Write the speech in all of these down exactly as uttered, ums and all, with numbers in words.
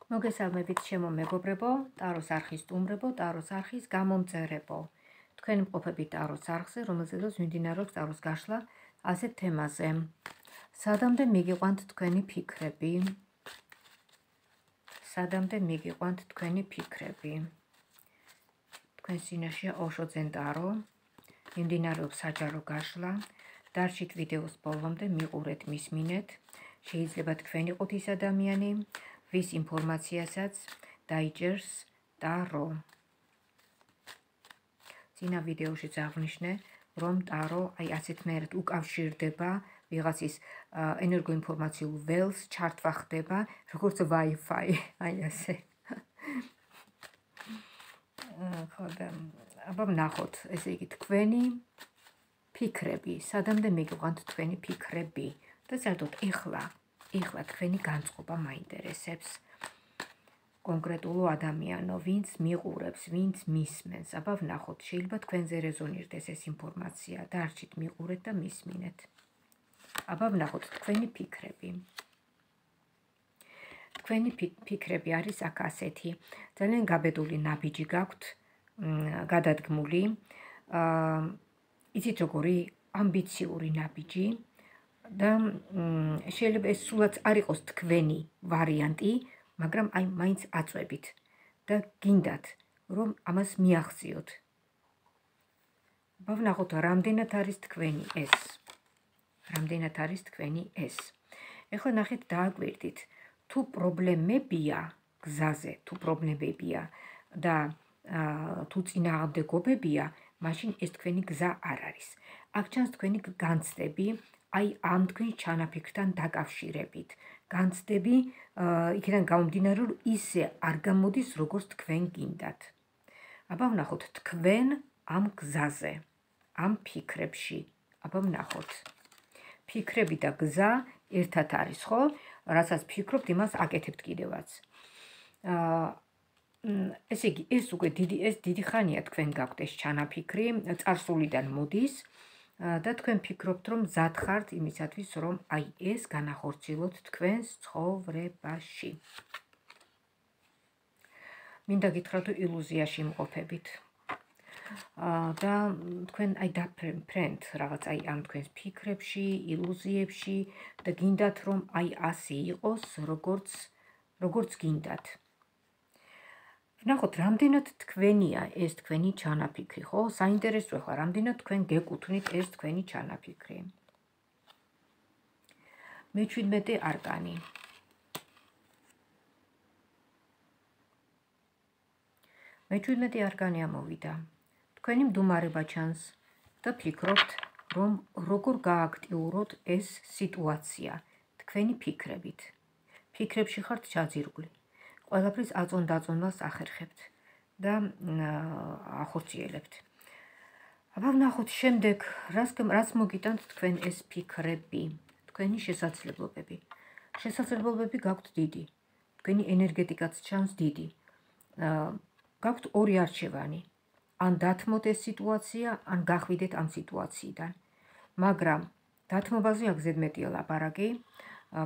მოგესალმებით ჩემო მეგობრებო, ტაროს არხის სტუმრებო, ტაროს არხის გამომწერებო. თქვენი მყოფები ტაროს არხზე, რომელზედაც მიმდინარეობს ტაროს გაშლა ასეთ თემაზე. სადამდე მიგიყვანთ თქვენი ფიქრები? სადამდე მიგიყვანთ თქვენი ფიქრები? თქვენ სინაშია ოშოძენ ტარო, მიმდინარეობს საჯარო გაშლა. დარჩით ვიდეოს ბოლომდე, მიყურეთ, მისმინეთ. შეიძლება თქვენ იყოთ ის ადამიანი, ვის ინფორმაციასაც დაიჭერს ტარო. წინა ვიდეოში აღნიშნე, რომ ტარო აი ასეთნაირად უკავშირდება ვიღაცის ენერგოინფორმაციულ ველს, ჩართვა ხდება, როგორც Wi-Fi, აი ასე. ხო და აბა ვნახოთ, ესე იგი თქვენი ფიქრები, სადამდე მიგიყვანთ თქვენი ფიქრები და საერთოდ ეხლა ეხლა თქვენი განწყობა მაინტერესებს. კონკრეტულო ადამიანო, ვინც მიყურებს, ვინც მისმენს, აბა ვნახოთ, შეიძლება თქვენზე რეზონირდეს ეს ინფორმაცია, დარჩით მიყურეთ და მისმინეთ. აბა ვნახოთ თქვენი ფიქრები. თქვენი ფიქრები არის აქ ასეთი, ძალიან გაბედული ნაბიჯი გაქვთ, გადადგმული, იცით როგორი ამბიციური ნაბიჯი. და შეიძლება ეს სულაც არ იყოს თქვენი ვარიანტი, მაგრამ აი მაინც აწვევით და გინდათ, რომ ამას მიაღწიოთ. ვნახოთ, რამდენად არის თქვენი ეს. რამდენად არის თქვენი ეს. ეხლა ნახეთ, დააკვირდით, თუ პრობლემებია გზაზე, თუ პრობლემებია და თუ წინააღმდეგობებია, მაშინ ეს თქვენი გზა არ არის. აქ ჩანს თქვენი განცდები, აი ამ თქვენ ჩანაფიქრთან დაკავშირებით. განცდები იქიდან გამომდინარე, რომ ისე არ გამოდის, როგორც თქვენ გინდათ. აბა ვნახოთ თქვენ ამ გზაზე, ამ ფიქრებში. აბა ვნახოთ. ფიქრები და გზა ერთად არის, ხო? რასაც ფიქრობთ, იმას აკეთებთ კიდევაც. ესე იგი, ეს უკვე დიდი ეს დიდი ხანია თქვენ გაქვთ ეს ჩანაფიქრი, წარსულიდან მოდის. და თქვენ ფიქრობთ, რომ მზად ხართ იმისათვის, რომ აი ეს განახორციელოთ თქვენს ცხოვრებაში. მინდა გითხრათ, რომ ილუზიაში იმყოფებით. და თქვენ აი დაფრენთ რაღაც აი ამ თქვენს ფიქრებში, ილუზიებში და გინდათ, რომ აი ასე იყოს, როგორც როგორც გინდათ. ვნახოთ, რამდენად თქვენია ეს თქვენი ჩანაფიქრი, ხო? საინტერესოა ხა, რამდენად თქვენ გეკუთვნით ეს თქვენი ჩანაფიქრი. მეჩვიდმეტე არკანი. მეჩვიდმეტე არკანი ამოვიდა. თქვენი მდუმარება ჩანს და ფიქრობთ, რომ როგორ გააქტიუროთ ეს სიტუაცია თქვენი ფიქრებით. ფიქრებში ხართ ჩაძირული. ყველაფრის აწონ-დაწონვას ახერხებთ და ახორციელებთ. აბა ვნახოთ შემდეგ, რაც მოგიტანთ თქვენ ეს ფიქრები, თქვენი შესაძლებლობები. შესაძლებლობები გაქვთ დიდი. თქვენი ენერგეტიკაც ჩანს დიდი. გაქვთ ორი არჩევანი. ან დათმოთ ეს სიტუაცია, ან გახვიდეთ ამ სიტუაციიდან. მაგრამ დათმობაზე აქ ზედმეტია ლაპარაკი,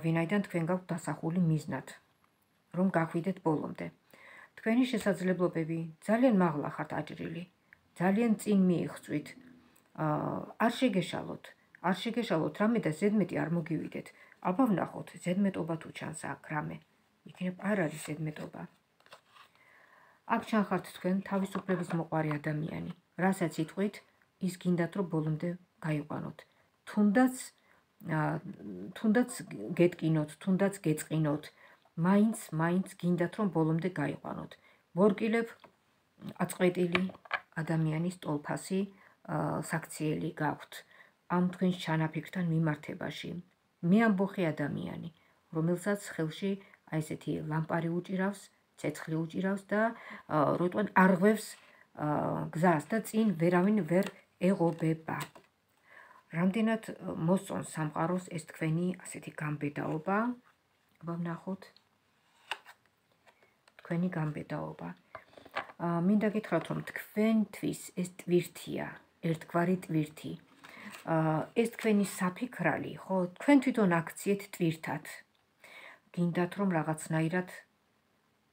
ვინაიდან თქვენ გაქვთ დასახული მიზნად. რომ გახვიდეთ ბოლომდე. თქვენი შესაძლებლობები ძალიან მაღლა ხართ აჭრილი. ძალიან წინ მიიღწვით. არ შეგეშალოთ. არ შეგეშალოთ რამე და ზედმეტი არ მოგივიდეთ. აბა ვნახოთ, ზედმეტობა თუ ჩანს აქ რამე. იქნებ არ არის ზედმეტობა. აქ ჩანხართ თქვენ თავისუფლების მოყვარე ადამიანი. რასაც იტყვით, ის გინდათ, რომ ბოლომდე გაიყვანოთ. თუნდაც თუნდაც გეტკინოთ, თუნდაც გეწყინოთ. მაინც, მაინც გინდათ, რომ ბოლომდე გაიყვანოთ. მორკილებ აწყვეტილი ადამიანის ტოლფასი საქციელი გაქვთ. ამ თქვენს ჩანაფიქრთან მიმართებაში. მე ამბოხი ადამიანი, რომელსაც ხელში აი ესეთი ლამპარი უჭირავს, ცეცხლი უჭირავს და როტყვენ არღვევს გზას და წინ ვერავინ ვერ ეღობება. რამდენად მოსწონს სამყაროს ეს თქვენი ასეთი გამბედაობა? აბა ვნახოთ. თქვენი გამბედაობა. მინდა გითხრათ, რომ თქვენთვის ეს ტვირთია, ერთგვარი ტვირთი. ეს თქვენი საფიქრალი, ხო, თქვენ თვითონ აქციეთ ტვირთად. გინდათ, რომ რაღაცნაირად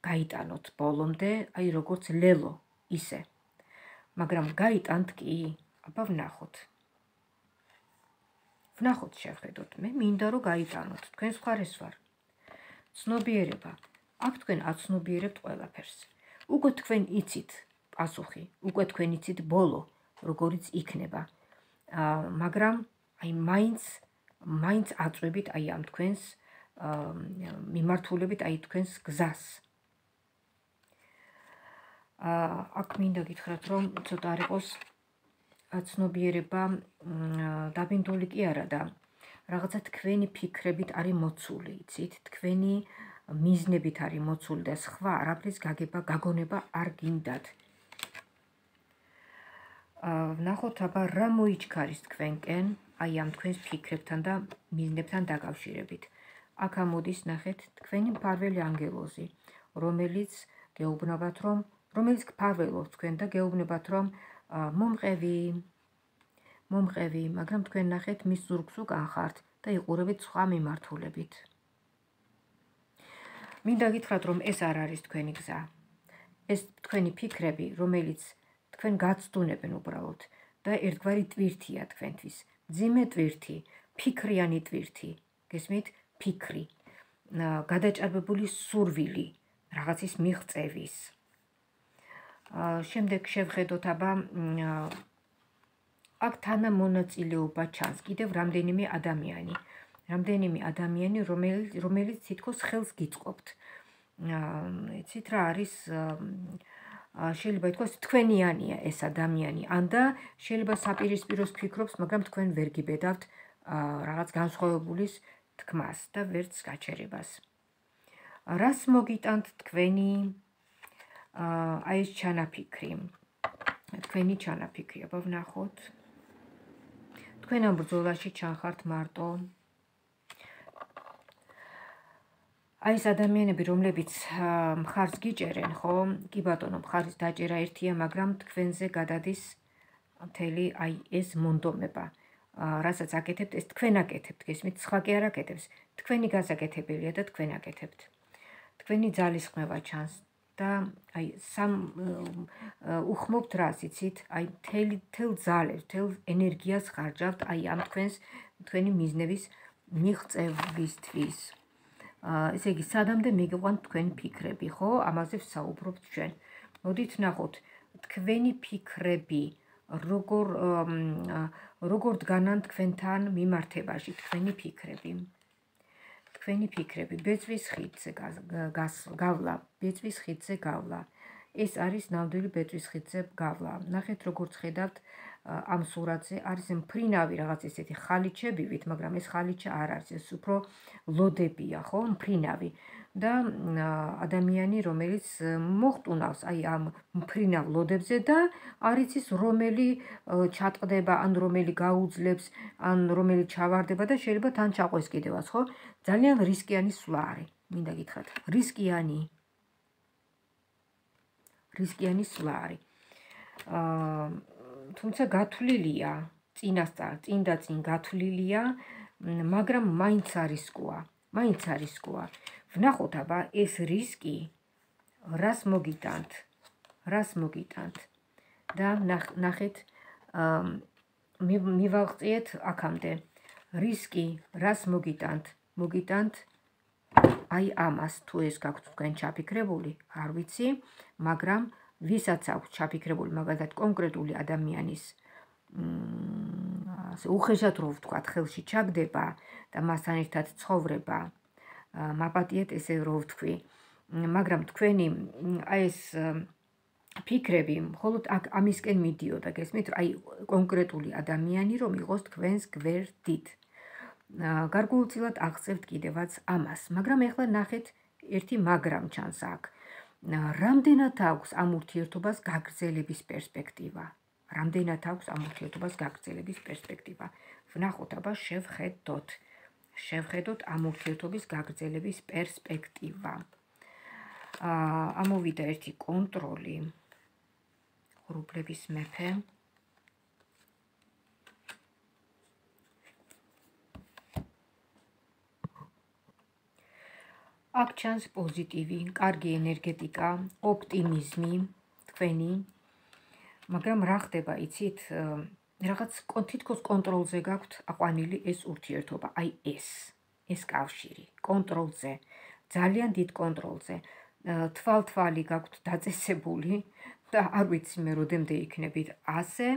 გაიტანოთ ბოლომდე, აი როგორც ლელო ისე. მაგრამ გაიტანთ კი, აბა ვნახოთ. ვნახოთ შევხედოთ, მე მინდა რომ გაიტანოთ, თქვენ მხარეს ვარ. ცნობიერება, აქ თქვენ აცნობიერებთ ყველაფერს. უკვე თქვენ იცით პასუხი, უკვე თქვენ იცით ბოლო, როგორიც იქნება. მაგრამ აი მაინც მაინც აწვევით აი ამ თქვენს მიმართულებით აი თქვენს გზას. აქ მინდა გითხრათ, რომ ცოტა არ იყოს ცნობიერება დაბინდული კი არა და რაღაცა თქვენი ფიქრებით არის მოცული, იცით, თქვენი მიზნებით არის მოცული და სხვა არაფრის გაგება, გაგონება არ გინდათ. ვნახოთ აბა რა მოიჩქარის თქვენკენ აი ამ თქვენს ფიქრებთან და მიზნებთან დაკავშირებით. აქ ამოდის ნახეთ თქვენი მფარველი ანგელოზი, რომელიც გეუბნებათ რომ რომელიც გფარველობს თქვენ და გეუბნებათ რომ მომყევი მომყევი, მაგრამ თქვენ ნახეთ მის ზურგს უკან ხართ და იყურებით სხვა მიმართულებით. მინდა გითხრათ რომ ეს არ არის თქვენი გზა. ეს თქვენი ფიქრები, რომელიც თქვენ გაცდუნებენ უბრალოდ და ერთგვარი ტვირთია თქვენთვის. მძიმე ტვირთი, ფიქრიანი ტვირთი, გესმით? ფიქრი, გადაჭარბებული სურვილი, რაღაცის მიღწევის. შემდეგ შევხედოთ აბა აქ თანამონაწილეობა ჩანს კიდევ რამდენიმე ადამიანი. რამდენიმე ადამიანი, რომელიც თითქოს ხელს გიწყობთ. იცით რა არის შეიძლება ითქვას თქვენიანია ეს ადამიანი, ანდა შეიძლება საპირისპიროს ფიქრობს, მაგრამ თქვენ ვერ გიბედავთ რაღაც განსხვავებულის თქმას და ვერც გაჩერებას. რას მოგიტანთ თქვენი აი ეს ჩანაფიქრი? თქვენი ჩანაფიქრი, აბა ვნახოთ. თქვენ ამ ბრძოლაში ჩანხართ მარტო. აი ეს ადამიანები, რომლებიც მხარს გიჭერენ, ხო? კი ბატონო, მხარის დაჭერა ერთია, მაგრამ თქვენზე გადადის მთელი აი ეს მონდომება. რასაც აკეთებთ, ეს თქვენ აკეთებთ, გესმით, სხვა კი არ აკეთებს. თქვენი გასაკეთებელია და თქვენ აკეთებთ. თქვენი ძალისხმევა ჩანს და აი სამ უხმობთ რას, იცით? აი მთელ ძალებს, მთელ ენერგიას ხარჯავთ აი ამ თქვენს თქვენი მიზნების მიღწევისთვის. ესე იგი, სადამდე მიგიყვანთ თქვენი ფიქრები, ხო? ამაზე ვსაუბრობთ ჩვენ. მოდით ნახოთ, თქვენი ფიქრები როგორ როგორ დგანან თქვენთან მიმართებაში, თქვენი ფიქრები. თქვენი ფიქრები, ბეწვის ხიდზე გავლა, ბეწვის ხიდზე გავლა. ეს არის ნამდვილი ბეწვის ხიდზე გავლა. ნახეთ, როგორც ხედავთ ამ სურათზე, არის მფრინავი რაღაც ესეთი ხალიჩებივით, მაგრამ ეს ხალიჩა არ არის, ეს უფრო ლოდებია, ხო, მფრინავი. და ადამიანი, რომელიც მოხტუნავს აი ამ მფრინავ ლოდებზე და არ იცის რომელი ჩატყდება, ან რომელი გაუძლებს, ან რომელი ჩავარდება და შეიძლება თან ჩაყვეს კიდევაც, ხო? ძალიან რისკიანი სვლა არის, მინდა გითხრათ. რისკიანი. რისკიანი სვლა არის. თუმცა გათვლილია, წინასწარ, წინ და წინ გათვლილია, მაგრამ მაინც არისკოა, მაინც არისკოა. ვნახოთ აბა ეს რისკი რას მოგიტანთ, რას მოგიტანთ და ნახეთ მივაღწიეთ აქამდე. რისკი რას მოგიტანთ? მოგიტანთ აი ამას, თუ ეს გაქვთ თქვენ ჩაფიქრებული, არ ვიცი, მაგრამ ვისაც აქვს ჩაფიქრებული, მაგალითად კონკრეტული ადამიანის უხეშად რო ვთქვათ, ხელში ჩაგდება და მასთან ერთად ცხოვრება, მაპატიეთ ესე რო ვთქვი, მაგრამ თქვენი აი ეს ფიქრები მხოლოდ აქ ამისკენ მიდიოდა, გესმით, აი კონკრეტული ადამიანი რომ იყოს თქვენს გვერდით. გარკვეულწილად აღწევთ კიდევაც ამას, მაგრამ ეხლა ნახეთ ერთი მაგრამ ჩანს აქ. რამდენად აქვს ამ ურთიერთობას გაგრძელების პერსპექტივა? რამდენად აქვს ამ ურთიერთობას გაგრძელების პერსპექტივა? ვნახოთ, აბა შევხედოთ. შევხედოთ ამ ურთიერთობის გაგრძელების პერსპექტივა. ამოვიდა ერთი კონტროლი. ღრუბლების მეფე. აქ ჩანს პოზიტივი, კარგი ენერგეტიკა, ოპტიმიზმი თქვენი, მაგრამ რა ხდება, იცით, რაღაც თითქოს კონტროლზე გაქვთ აყვანილი ეს ურთიერთობა, აი ეს, ეს კავშირი, კონტროლზე, ძალიან დიდ კონტროლზე, თვალ-თვალი გაქვთ დაწესებული და არ ვიცი მე როდემდე იქნებით ასე,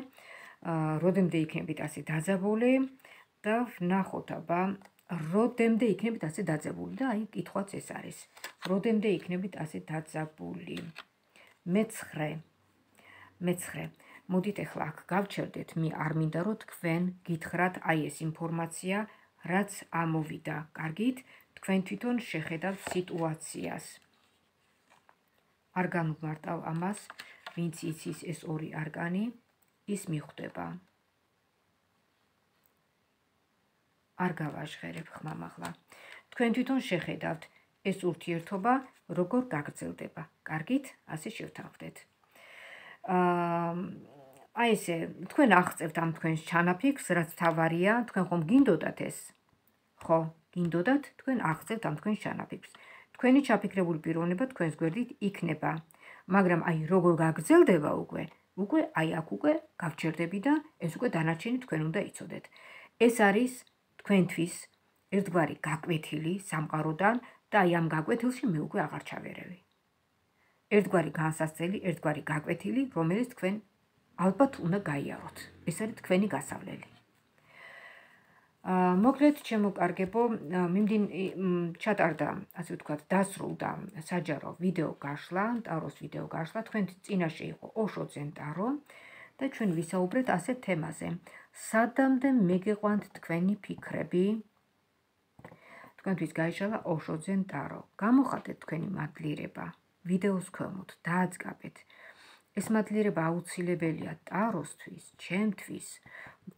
როდემდე იქნებით ასე დაძაბული და ვნახოთ აბა, როდემდე იქნებით ასე დაძაბული და აი კითხვაც ეს არის, როდემდე იქნებით ასე დაძაბული. მეცხრე, მეცხრე, მოდით ახლა აქ გავჩერდეთ, მე არ მინდა რომ თქვენ გითხრათ აი ეს ინფორმაცია, რაც ამოვიდა, კარგით, თქვენ თვითონ შეხედავთ სიტუაციას. არ განვმარტავ ამას, ვინც იცის ეს ორი არკანი, ის მიხვდება. არ გავაჟღერებ ხმამაღლა. თქვენ თვითონ შეხედავთ ეს ურთიერთობა როგორ გაგრძელდება. კარგით, ასე შევთანხმდეთ. აი ესე, თქვენ აღწევთ ამ თქვენს ჩანაფიქრს, რაც თავარია, თქვენ ხომ გინდოდათ ეს? ხო, გინდოდათ, თქვენ აღწევთ ამ თქვენს ჩანაფიქრს. თქვენი ჩაფიქრებული პიროვნება თქვენს გვერდით იქნება, მაგრამ აი როგორ გაგრძელდება უკვე, უკვე აი აქ უკვე გავჩერდები და ეს უკვე დანარჩენი თქვენ უნდა იცოდეთ. ეს არის თქვენთვის ერთგვარი გაკვეთილი სამყაროდან და აი ამ გაკვეთილში მე უკვე აღარ ჩავერევი. ერთგვარი განსასწრელი, ერთგვარი გაკვეთილი, რომელიც თქვენ ალბათ უნდა გაიაროთ. ეს არის თქვენი გასავლელი. მოკლედ, ჩემო კარგებო, მიმდინ ჩატარდა, ასე ვთქვათ, დასრულდა საჯარო ვიდეო გაშლა, ტაროს ვიდეო გაშლა, თქვენ წინაშე იყო ოშო ძენ ტარო და ჩვენ ვისაუბრეთ ასეთ თემაზე. სადამდე მეგეყვანთ თქვენი ფიქრები? თქვენთვის გაიშალა ოშო ძენ ტარო. გამოხატეთ თქვენი მადლიერება ვიდეოს ქვემოთ, დააწყაბეთ. ეს მადლიერება აუცილებელია ტაროსთვის, ჩემთვის,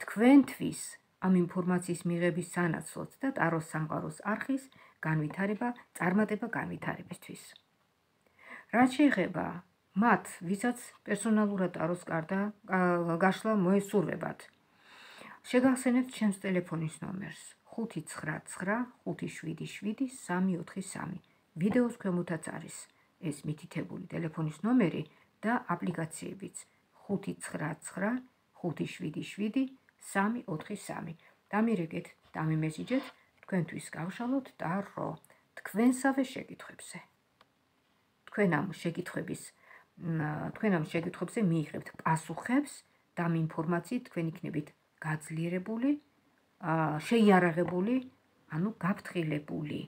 თქვენთვის, ამ ინფორმაციის მიღების სანაცვლოდ და ტაროს სამყაროს არხის განვითარება, წარმატება განვითარებისთვის. რაც შეეხება მათ, ვისაც პერსონალურად ტაროს კარდა გაშლა მოესურვებათ, შეგახსენებთ ჩემს ტელეფონის ნომერს ხუთი ცხრა ცხრა ხუთი შვიდი შვიდი სამი ოთხი სამი. ვიდეოს ქვემოთაც არის ეს მითითებული ტელეფონის ნომერი და აპლიკაციებიც ხუთი ცხრა ცხრა ხუთი შვიდი შვიდი სამი ოთხი სამი. დამირეკეთ, დამიმესიჯეთ, თქვენთვის გავშალოთ ტარო თქვენსავე შეკითხვებზე. თქვენ ამ შეკითხვების, თქვენ ამ შეკითხვებზე მიიღებთ პასუხებს და ამ ინფორმაციით თქვენ იქნებით გაძლიერებული, შეიარაღებული, ანუ გაფრთხილებული.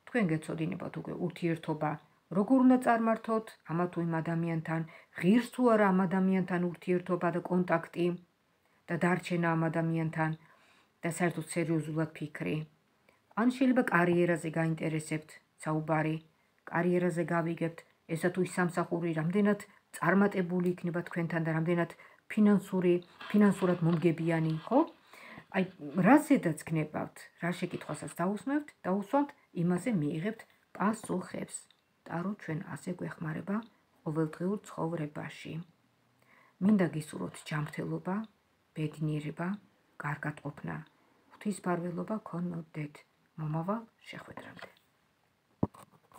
თქვენ გეცოდინებათ უკვე ურთიერთობა როგორ უნდა წარმართოთ ამა თუ იმ ადამიანთან, ღირს თუ არა ამ ადამიანთან ურთიერთობა და კონტაქტი და დარჩენა ამ ადამიანთან და საერთოდ სერიოზულად ფიქრი. ან შეიძლება კარიერაზე გაინტერესებთ საუბარი, კარიერაზე გავიგებთ, ესა თუ ის სამსახური რამდენად წარმატებული იქნება თქვენთან და რამდენად ფინანსური, ფინანსურად მომგებიანი, ხო? აი, რაზედაც გნებავთ, რა შეკითხვასაც დაусმევთ, დაусვამთ, იმაზე მიიღებთ პასუხებს. ტარო ჩვენ ასე გვეხმარება ყოველდღიურ ცხოვრებაში. მინდა გისურვოთ ჯანმრთელობა, ბედნიერება, კარგად ყოფნა, ღვთისმფარველობა გქონოდეთ. მომავალ შეხვედრამდე.